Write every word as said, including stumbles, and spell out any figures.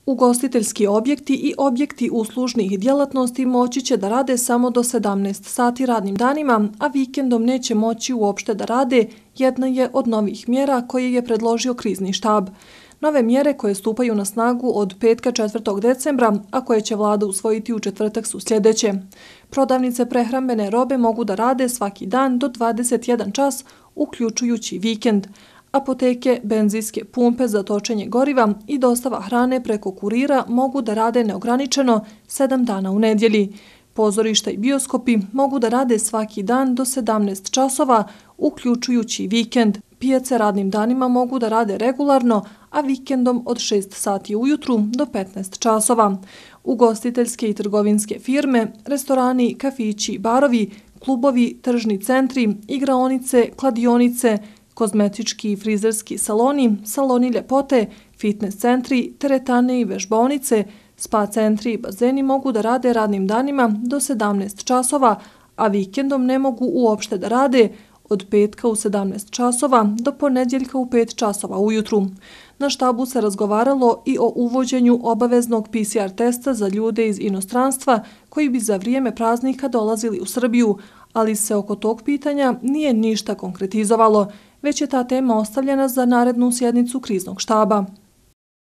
Ugostiteljski objekti i objekti uslužnih djelatnosti moći će da rade samo do sedamnaest sati radnim danima, a vikendom neće moći uopšte da rade, jedna je od novih mjera koje je predložio krizni štab. Nove mjere koje stupaju na snagu od petka četvrtog decembra, a koje će vlada usvojiti u četvrtak su sljedeće. Prodavnice prehrambene robe mogu da rade svaki dan do dvadeset jedan čas, uključujući vikend. Apoteke, benzinske pumpe za točenje goriva i dostava hrane preko kurira mogu da rade neograničeno sedam dana u nedjelji. Pozorišta i bioskopi mogu da rade svaki dan do sedamnaest časova, uključujući vikend. Pijace radnim danima mogu da rade regularno, a vikendom od šest sati ujutru do petnaest časova. Ugostiteljske i trgovinske firme, restorani, kafići, barovi, klubovi, tržni centri, igraonice, kladionice, kozmetički i frizerski saloni, saloni ljepote, fitness centri, teretane i vežbaonice, spa centri i bazeni mogu da rade radnim danima do sedamnaest časova, a vikendom ne mogu uopšte da rade od petka u sedamnaest časova do ponedjeljka u pet časova ujutru. Na štabu se razgovaralo i o uvođenju obaveznog P C R testa za ljude iz inostranstva koji bi za vrijeme praznika dolazili u Srbiju, ali se oko tog pitanja nije ništa konkretizovalo, već je ta tema ostavljena za narednu sjednicu kriznog štaba.